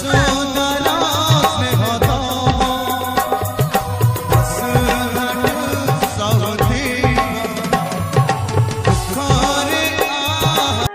ଯଶୋଦାର ସ୍ନେହ ଦବ, ବସ ଘାଟ ସଉଥିବ, ଦୁଃଖରେ ଆହା।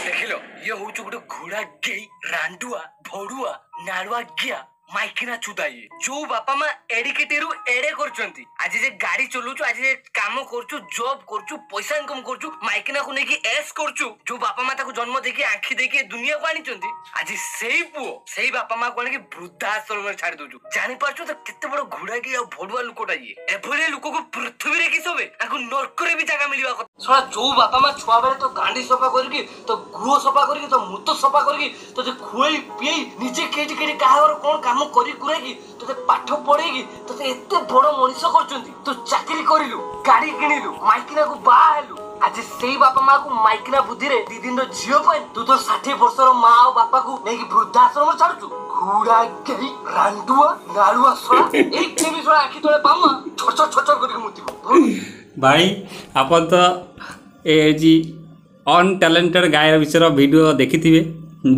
ଦେଖିଲ, ଇଏ ହଉଛି ଗୋଟେ ଘୋଡା ଗେଇ, ରାଣ୍ଡୁଆ, ଭଡୁଆ, ନାଳୁଆ ଗିଆ, ମାଇକିନା ଚୁଦା। ଇଏ ଯୋଉ ବାପା ମା ଏଡିକିଟିରୁ ଏଡେ କରୁଛନ୍ତି, ଆଜି ଯେ ଗାଡି ଚଲଉଛୁ, ଆଜି ଯେ କାମ କରୁଛୁ, ଜବ୍ କରୁଛୁ, ପଇସା ଇନକମ କରୁଛୁ, ମାଇକିନାକୁ ନେଇକି ଏସ୍ କରୁଛୁ, ଯୋଉ ବାପା ମା ତାକୁ ଜନ୍ମ ଦେଇକି, ଆଖି ଦେଇକି ଏ ଦୁନିଆକୁ ଆଣିଛନ୍ତି, ଆଜି ସେଇ ପୁଅ ସେଇ ବାପା ମାକୁ ଆଣିକି ବୃଦ୍ଧାଶ୍ରମରେ ଛାଡି ଦଉଛୁ। ଜାଣିପାରୁଛୁ ତ କେତେ ବଡ ଘୋଡା କି ଆଉ ଭଡୁଆ ଲୋକଟା ଇଏ? ଏଭଳିଆ ଲୋକକୁ ପୃଥିବୀରେ କି ଶୋଭେ? ତାକୁ ନର୍କରେ ବି ଜାଗା ମିଳିବା କଥା। ଶଳା, ଯୋଉ ବାପା ମା ଛୁଆ ବେଳେ ତୋ ଗାଣ୍ଡି ସଫା କରିକି, ତୋ ଗୁହ ସଫା କରିକି, ତୋ ମୁତ ସଫା କରିକି, ତୋତେ ଖୁଏଇ ପିଏଇ, ନିଜେ କେଠି କେଠି କାହା ଘର କଣ କାମ କରି କୁରାଇକି ତୋତେ ପାଠ ପଢେଇକି ତୋତେ ଏତେ ବଡ ମଣିଷ କରୁଛନ୍ତି, ତୁ ଚାକିରି କରିଲୁ, ଗାଡି କିଣିଲୁ, ମାଇକିନାକୁ ବାହା ହେଲୁ, ଆଜି ସେଇ ବାପା ମାକୁ ମାଇକିନା ବୁଦ୍ଧିରେ 2 ଦିନର ଝିଅ ପାଇଁ ତୁ ତୋର 60 ବର୍ଷର ମା ଆଉ ବାପାକୁ ନେଇକି ବୃଦ୍ଧାଶ୍ରମ ଛାଡୁଛୁ। ଘୁଡା ଗେଇ, ରାଣ୍ଡୁଆ, ନାଳୁଆ ଶଳା, ଏଇ କେବି ଶଳା ଆଖି ତଳେ ପାଉଆ ଛଚ ଛଚ କରିକି ମୁତିବ। ଭାଇ, ଆପଣ ତ ଏ ଯେ ଅନଟ୍ୟାଲେଣ୍ଟେଡ଼ ଗାୟର ବିଷୟରେ ଭିଡ଼ିଓ ଦେଖିଥିବେ।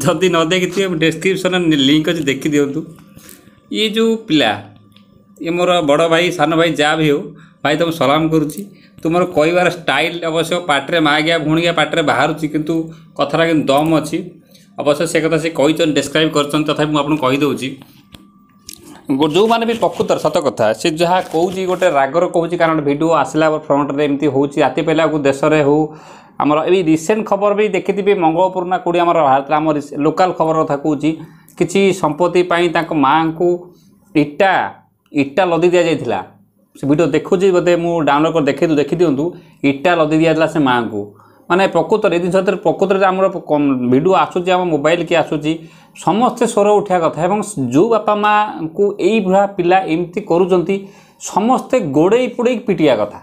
ଯଦି ନ ଦେଖିଥିବେ, ଡେସ୍କ୍ରିପସନ୍ରେ ଲିଙ୍କ୍ ଅଛି, ଦେଖିଦିଅନ୍ତୁ। ଇଏ ଯେଉଁ ପିଲା, ଇଏ ମୋର ବଡ଼ ଭାଇ, ସାନ ଭାଇ, ଯାହା ବି ହେଉ, ଭାଇ ତୁମ ସଲାମ କରୁଛି। ତୁମର କହିବାର ଷ୍ଟାଇଲ୍ ଅବଶ୍ୟ ପାଟିରେ ମାଗିଆ ଭଉଣିଆ ପାଟିରେ ବାହାରୁଛି, କିନ୍ତୁ କଥାଟା କିନ୍ତୁ ଦମ୍ ଅଛି। ଅବଶ୍ୟ ସେ କଥା ସେ କହିଛନ୍ତି, ଡେସ୍କ୍ରାଇବ୍ କରିଛନ୍ତି, ତଥାପି ମୁଁ ଆପଣଙ୍କୁ କହିଦେଉଛି। ଯେଉଁମାନେ ବି ପ୍ରକୃତରେ ସତ କଥା, ସେ ଯାହା କହୁଛି ଗୋଟେ ରାଗର କହୁଛି, କାରଣ ଭିଡ଼ିଓ ଆସିଲା ଫ୍ରଣ୍ଟରେ ଏମିତି ହେଉଛି। ରାତି ପାଇଲାକୁ ଦେଶରେ ହେଉ, ଆମର ଏଇ ରିସେଣ୍ଟ ଖବର ବି ଦେଖିଥିବେ, ମଙ୍ଗଳପୁର ନା କେଉଁଠି ଆମର ବାହାରିଥିଲା, ଆମ ଲୋକାଲ୍ ଖବର କଥା କହୁଛି, କିଛି ସମ୍ପତ୍ତି ପାଇଁ ତାଙ୍କ ମାଆଙ୍କୁ ଇଟା ଲଦି ଦିଆଯାଇଥିଲା। ସେ ଭିଡ଼ିଓ ଦେଖୁଛି ବୋଧେ, ମୁଁ ଡାଉନଲୋଡ଼ କରି ଦେଖେଇ ଦେଖିଦିଅନ୍ତୁ। ଇଟା ଲଦି ଦିଆଯାଇଥିଲା ସେ ମାଆଙ୍କୁ। ମାନେ ପ୍ରକୃତରେ ଏ ଜିନିଷ ପ୍ରକୃତରେ ଆମର ଭିଡ଼ିଓ ଆସୁଛି, ଆମ ମୋବାଇଲ କି ଆସୁଛି, ସମସ୍ତେ ସ୍ୱର ଉଠିବା କଥା। ଏବଂ ଯେଉଁ ବାପା ମାଆଙ୍କୁ ଏଇଭଳିଆ ପିଲା ଏମିତି କରୁଛନ୍ତି, ସମସ୍ତେ ଗୋଡ଼େଇ ପୋଡ଼େଇକି ପିଟିବା କଥା।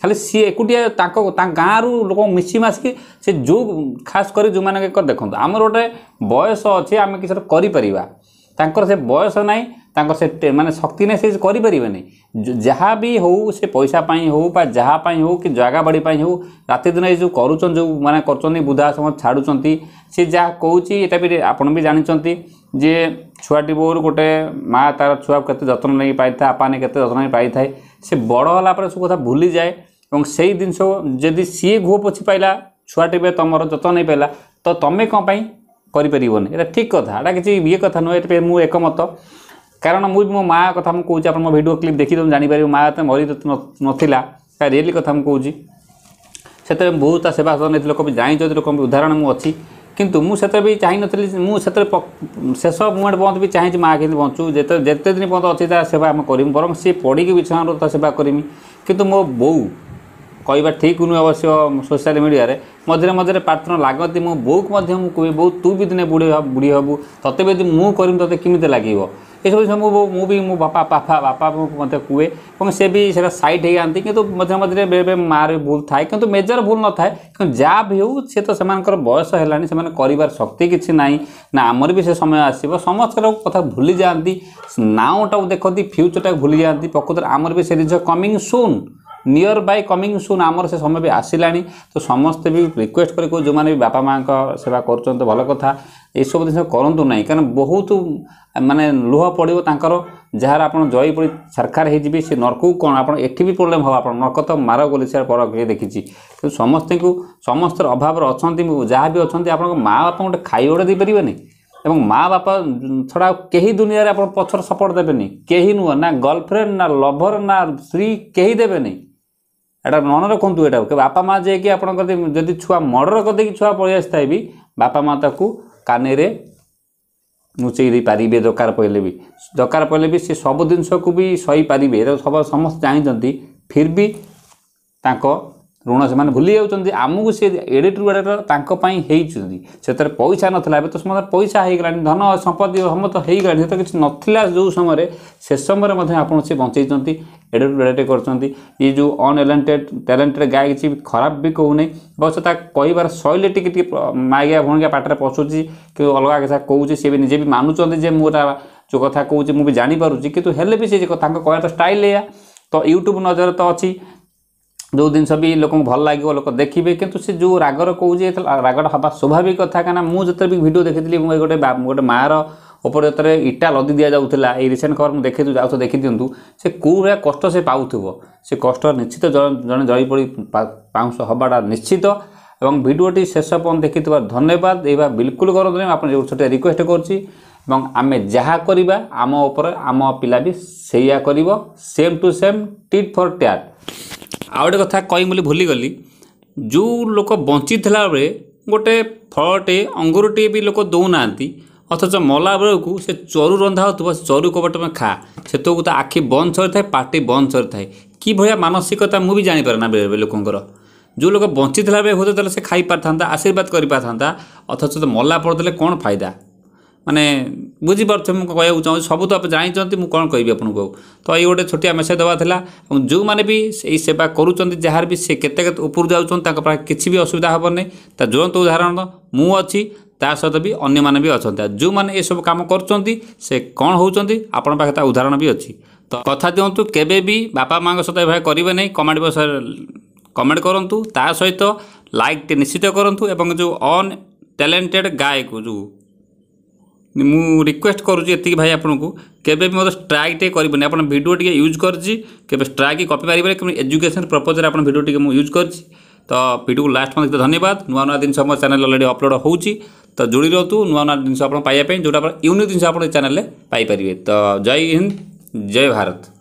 ଖାଲି ସିଏ ଏକୁଟିଆ, ତାଙ୍କ ଗାଁରୁ ଲୋକ ମିଶି ମାସିକି ସେ ଯେଉଁ ଖାସ କରି ଯେଉଁମାନେ, ଦେଖନ୍ତୁ, ଆମର ଗୋଟେ ବୟସ ଅଛି, ଆମେ କିଛି ଗୋଟେ କରିପାରିବା। ତାଙ୍କର ସେ ବୟସ ନାହିଁ, ତାଙ୍କର ସେ ମାନେ ଶକ୍ତି ନାହିଁ, ସେ କରିପାରିବେନି। ଯାହା ବି ହେଉ, ସେ ପଇସା ପାଇଁ ହେଉ ବା ଯାହା ପାଇଁ ହେଉ କି ଜାଗା ବାଡ଼ି ପାଇଁ ହେଉ, ରାତି ଦିନ ଏଇ ଯେଉଁ କରୁଛନ୍ତି, ଯେଉଁ ମାନେ କରୁଛନ୍ତି, ବୃଦ୍ଧାଶ୍ରମ ଛାଡ଼ୁଛନ୍ତି। ସେ ଯାହା କହୁଛି, ଏଇଟା ବି ଆପଣ ବି ଜାଣିଛନ୍ତି ଯେ ଛୁଆଟି ବୋଉରୁ ଗୋଟେ ମା ତା'ର ଛୁଆକୁ କେତେ ଯତ୍ନ ନେଇ ପାରିଥାଏ, ଆପା ନେଇ କେତେ ଯତ୍ନ ନେଇ ପାରିଥାଏ। ସେ ବଡ଼ ହେଲା ପରେ ସବୁ କଥା ଭୁଲିଯାଏ। ଏବଂ ସେଇ ଜିନିଷ ଯଦି ସିଏ ଘୁଅ ପୋଛି ପାଇଲା, ଛୁଆଟି ବି ତୁମର ଯତ୍ନ ନେଇପାରିଲା, ତ ତୁମେ କ'ଣ ପାଇଁ କରିପାରିବନି? ଏଇଟା ଠିକ୍ କଥା, ଏଇଟା କିଛି ଇଏ କଥା ନୁହେଁ। ଏଇଟା ମୁଁ ଏକମତ, କାରଣ ମୁଁ ବି ମୋ ମା' କଥା ମୁଁ କହୁଛି। ଆପଣ ମୋ ଭିଡ଼ିଓ କ୍ଲିପ୍ ଦେଖିଦିଅନ୍ତୁ, ଜାଣିପାରିବେ। ମା' ଏତେ ମରି ନଥିଲା, ତା ରିଏଲି କଥା ମୁଁ କହୁଛି। ସେତେବେଳେ ବହୁତ ତା ସେବା ଯତ୍ନ ନେଇଥିଲେ, ଲୋକ ବି ଜାଣିଛନ୍ତି, ଲୋକଙ୍କ ଉଦାହରଣ ମୁଁ ଅଛି। କିନ୍ତୁ ମୁଁ ସେତେବେଳେ ବି ଚାହିଁନଥିଲି, ମୁଁ ସେତେବେଳେ ଶେଷ ମୁମେଣ୍ଟ ପର୍ଯ୍ୟନ୍ତ ବି ଚାହିଁଛି ମା' କେମିତି ବଞ୍ଚୁ, ଯେତେ ଦିନ ପର୍ଯ୍ୟନ୍ତ ଅଛି ତା ସେବା ଆମେ କରିମୁ, ବରଂ ସିଏ ପଡ଼ିକି ବିଛଣାରୁ ତା ସେବା କରିମି। କିନ୍ତୁ ମୋ ବୋଉ କହିବା ଠିକ୍ ନୁହେଁ ଅବଶ୍ୟ, ସୋସିଆଲ ମିଡ଼ିଆରେ ମଝିରେ ମଝିରେ ପ୍ରାର୍ଥନା ଲାଗନ୍ତି। ମୋ ବୋଉକୁ ମଧ୍ୟ ମୁଁ କୁହେ, ବୋଉ, ତୁ ବି ଦିନେ ବୁଢ଼ୀ ହେବୁ, ତତେ ବି ଯଦି ମୁଁ କରିମି ତତେ କେମିତି ଲାଗିବ? ଏସବୁ ଜିନିଷ ମୁଁ ବି ମୋ ବାପା ମଧ୍ୟ କୁହେ ଏବଂ ସେ ବି ସେଇଟା ସାଇଡ଼୍ ହେଇଯାଆନ୍ତି। କିନ୍ତୁ ମଝିରେ ମଝିରେ ବେଳେବେଳେ ମାଆର ବି ଭୁଲ ଥାଏ, କିନ୍ତୁ ମେଜର ଭୁଲ ନଥାଏ। କିନ୍ତୁ ଯାହା ବି ହେଉ, ସେ ତ ସେମାନଙ୍କର ବୟସ ହେଲାଣି, ସେମାନେ କରିବାର ଶକ୍ତି କିଛି ନାହିଁ ନା। ଆମର ବି ସେ ସମୟ ଆସିବ। ସମସ୍ତଙ୍କ କଥା ଭୁଲି ଯାଆନ୍ତି, ନାଉଟାକୁ ଦେଖନ୍ତି, ଫ୍ୟୁଚରଟାକୁ ଭୁଲି ଯାଆନ୍ତି। ପ୍ରକୃତରେ ଆମର ବି ସେ ଜିନିଷ coming soon, near by coming soon, ଆମର ସେ ସମୟ ବି ଆସିଲାଣି। ତ ସମସ୍ତେ ବି ରିକ୍ୱେଷ୍ଟ କରି କହୁ, ଯେଉଁମାନେ ବି ବାପା ମାଆଙ୍କ ସେବା କରୁଛନ୍ତି ଭଲ କଥା, ଏସବୁ ଜିନିଷ କରନ୍ତୁ ନାହିଁ। କାରଣ ବହୁତ ମାନେ ଲୁହ ପଡ଼ିବ ତାଙ୍କର, ଯାହାର ଆପଣ ଜୟୀ ପଡ଼ି ସରକାର ହେଇଯିବେ, ସେ ନର୍କକୁ କ'ଣ, ଆପଣ ଏଠି ବି ପ୍ରୋବ୍ଲେମ୍ ହେବ। ଆପଣ ନର୍କ ତ ମାର ବୋଲି ସେ ପର କିଏ ଦେଖିଛି? କିନ୍ତୁ ସମସ୍ତଙ୍କୁ, ସମସ୍ତର ଅଭାବରେ ଅଛନ୍ତି, ଯାହା ବି ଅଛନ୍ତି, ଆପଣଙ୍କ ମା ବାପାଙ୍କୁ ଗୋଟେ ଖାଇବା ଗୋଟେ ଦେଇପାରିବେନି? ଏବଂ ମା ବାପା ଛଡ଼ା ଆଉ କେହି ଦୁନିଆରେ ଆପଣ ପଛର ସପୋର୍ଟ ଦେବେନି, କେହି ନୁହଁ, ନା ଗର୍ଲଫ୍ରେଣ୍ଡ, ନା ଲଭର, ନା ସ୍ତ୍ରୀ, କେହି ଦେବେନି। ଏଇଟା ମନେ ରଖନ୍ତୁ। ଏଇଟା ବାପା ମା ଯାଇକି ଆପଣଙ୍କ ଯଦି ଛୁଆ ମର୍ଡ଼ର କରିଦେଇକି ଛୁଆ ପଳେଇ ଆସିଥାଏ ବି, ବାପା ମା ତାକୁ କାନରେ ଲୁଚେଇ ଦେଇପାରିବେ ଦରକାର ପଡ଼ିଲେ ବି, ଦରକାର ପଡ଼ିଲେ ବି ସେ ସବୁ ଜିନିଷକୁ ବି ସହିପାରିବେ। ଏଇଟା ସବୁ ସମସ୍ତେ ଜାଣିଛନ୍ତି। ଫିର୍ ବି ତାଙ୍କ ଋଣ ସେମାନେ ଭୁଲି ଯାଉଛନ୍ତି। ଆମକୁ ସେ ଏଡ଼ିଟ୍ରୁ ଏଡ଼ିଟ୍ ତାଙ୍କ ପାଇଁ ହେଇଛନ୍ତି। ସେଥିରେ ପଇସା ନଥିଲା, ଏବେ ତ ସମସ୍ତଙ୍କର ପଇସା ହେଇଗଲାଣି, ଧନ ସମ୍ପତ୍ତି ସମସ୍ତ ହେଇଗଲାଣି। ସେତେବେଳେ କିଛି ନଥିଲା ଯେଉଁ ସମୟରେ, ସେ ସମୟରେ ମଧ୍ୟ ଆପଣ ସେ ବଞ୍ଚେଇଛନ୍ତି, ଏଡ଼ିଟ୍ରୁ ଏଡ଼ିଟ୍ କରିଛନ୍ତି। ଏ ଯେଉଁ ଅନଟ୍ୟାଲେଣ୍ଟେଡ଼ ଟ୍ୟାଲେଣ୍ଟେଡ଼ ଗାଏ, କିଛି ଖରାପ ବି କହୁନି, ଅବଶ୍ୟ ତା କହିବାର ଶୈଳୀ ଟିକେ ଟିକେ ମାଗିଆ ଭଣିକା ପାଟିରେ ପଶୁଛି କି ଅଲଗା କଥା କହୁଛି। ସେ ବି ନିଜେ ବି ମାନୁଛନ୍ତି ଯେ ମୁଁ ଏଟା ଯେଉଁ କଥା କହୁଛି ମୁଁ ବି ଜାଣିପାରୁଛି, କିନ୍ତୁ ହେଲେ ବି ସେ ତାଙ୍କ କହିବାର ଷ୍ଟାଇଲ୍ ଏଇଆ। ତ ୟୁଟ୍ୟୁବ୍ ନଜର ତ ଅଛି, ଯେଉଁ ଜିନିଷ ବି ଲୋକଙ୍କୁ ଭଲ ଲାଗିବ, ଲୋକ ଦେଖିବେ। କିନ୍ତୁ ସେ ଯେଉଁ ରାଗର କହୁଛି, ରାଗଟା ହେବା ସ୍ୱାଭାବିକ କଥା। କାହିଁକିନା ମୁଁ ଯେତେବେଳେ ବି ଭିଡ଼ିଓ ଦେଖିଥିଲି, ମୁଁ ଗୋଟେ ମାଆର ଉପରେ ଯେତେବେଳେ ଇଟା ଲଦି ଦିଆଯାଉଥିଲା, ଏଇ ରିସେଣ୍ଟ ଖବର ମୁଁ ଦେଖିଥିଲି, ଆଉ ଦେଖିଦିଅନ୍ତୁ, ସେ କେଉଁ ଭଳିଆ କଷ୍ଟ ସେ ପାଉଥିବ। ସେ କଷ୍ଟ ନିଶ୍ଚିତ ଜଣେ ଜଳି ପୋଡ଼ି ପାଉଁଶ ହେବାଟା ନିଶ୍ଚିତ। ଏବଂ ଭିଡ଼ିଓଟି ଶେଷ ପର୍ଯ୍ୟନ୍ତ ଦେଖିଥିବା ଧନ୍ୟବାଦ। ଏଇବା ବିଲକୁଲ କରନ୍ତୁ ନାହିଁ, ଆପଣ ଯେଉଁ ଛୋଟିଆ ରିକ୍ୱେଷ୍ଟ କରୁଛି। ଏବଂ ଆମେ ଯାହା କରିବା, ଆମ ଉପରେ ଆମ ପିଲା ବି ସେଇଆ କରିବ, same to same, tit for tat. ଆଉ ଗୋଟେ କଥା କହିବି ବୋଲି ଭୁଲିଗଲି। ଯେଉଁ ଲୋକ ବଞ୍ଚିଥିଲା ବେଳେ ଗୋଟେ ଫଳଟେ, ଅଙ୍ଗୁରଟିଏ ବି ଲୋକ ଦେଉନାହାନ୍ତି, ଅଥଚ ମଲା ବେଳକୁ ସେ ଚରୁ ରନ୍ଧା ହେଉଥିବ, ସେ ଚରୁ କବ ତମେ ଖା, ସେତେବେଳକୁ ତା ଆଖି ବନ୍ଦ ସରିଥାଏ, ପାଟି ବନ୍ଦ ସରିଥାଏ। କି ଭଳିଆ ମାନସିକତା ମୁଁ ବି ଜାଣିପାରେ ନା ବେଳେବେଳେ ଲୋକଙ୍କର। ଯେଉଁ ଲୋକ ବଞ୍ଚିଥିଲା ବେଳେ ହୁଏତ ତାହେଲେ ସେ ଖାଇପାରିଥାନ୍ତା, ଆଶୀର୍ବାଦ କରିପାରିଥାନ୍ତା, ଅଥଚ ତ ମଲା ପରେ ଦେଲେ କ'ଣ ଫାଇଦା? ମାନେ ବୁଝିପାରୁଥିବେ ମୁଁ କହିବାକୁ ଚାହୁଁଛି, ସବୁ ତ ଆପଣ ଜାଣିଛନ୍ତି, ମୁଁ କ'ଣ କହିବି ଆପଣଙ୍କୁ ଆଉ। ତ ଏଇ ଗୋଟେ ଛୋଟିଆ ମେସେଜ୍ ଦେବା ଥିଲା। ଏବଂ ଯେଉଁମାନେ ବି ଏଇ ସେବା କରୁଛନ୍ତି, ଯାହାର ବି ସେ କେତେ କେତେ ଉପରକୁ ଯାଉଛନ୍ତି, ତାଙ୍କ ପାଖରେ କିଛି ବି ଅସୁବିଧା ହେବନି। ତା ଜ୍ୱଳନ୍ତ ଉଦାହରଣ ମୁଁ ଅଛି, ତା ସହିତ ବି ଅନ୍ୟମାନେ ବି ଅଛନ୍ତି। ଆଉ ଯେଉଁମାନେ ଏସବୁ କାମ କରୁଛନ୍ତି, ସେ କ'ଣ ହେଉଛନ୍ତି, ଆପଣଙ୍କ ପାଖରେ ତା ଉଦାହରଣ ବି ଅଛି। ତ କଥା ଦିଅନ୍ତୁ, କେବେ ବି ବାପା ମାଆଙ୍କ ସହିତ ଏଭଳିଆ କରିବେ ନାହିଁ। କମେଣ୍ଟ ବକ୍ସରେ କମେଣ୍ଟ କରନ୍ତୁ, ତା ସହିତ ଲାଇକ୍ଟେ ନିଶ୍ଚିତ କରନ୍ତୁ। ଏବଂ ଯେଉଁ ଅନ୍ ଟ୍ୟାଲେଣ୍ଟେଡ଼ ଗାୟକୁ ଯେଉଁ ମୁଁ ରିକ୍ୱେଷ୍ଟ କରୁଛି ଏତିକି ଭାଇ ଆପଣଙ୍କୁ, କେବେ ବି ମୋତେ ଷ୍ଟ୍ରାଇକ୍ ଟିକେ କରିବେନି। ଆପଣ ଭିଡ଼ିଓ ଟିକେ ୟୁଜ୍ କରିଛି, କେବେ ଷ୍ଟ୍ରାଇକ୍ କପି ପାରିବେନି। କେବଳ ଏଜୁକେସନ୍ ପର୍ପଜ୍ରେ ଆପଣ ଭିଡ଼ିଓ ଟିକେ ମୁଁ ୟୁଜ୍ କରିଛି। ତ ଭିଡ଼ିଓକୁ ଲାଷ୍ଟ ପର୍ଯ୍ୟନ୍ତ ଧନ୍ୟବାଦ। ନୂଆ ନୂଆ ଜିନିଷ ମୋ ଚ୍ୟାନେଲ୍ ଅଲରେଡ଼ି ଅପଲୋଡ଼ ହେଉଛି, ତ ଯୋଡ଼ି ରୁହନ୍ତୁ ନୂଆ ନୂଆ ଜିନିଷ ଆପଣ ପାଇବା ପାଇଁ, ଯେଉଁଟା ଆପଣ ୟୁନିକ୍ ଜିନିଷ ଆପଣ ଏ ଚ୍ୟାନେଲ୍ରେ ପାଇପାରିବେ। ତ ଜୟ ହିନ୍ଦ, ଜୟ ଭାରତ।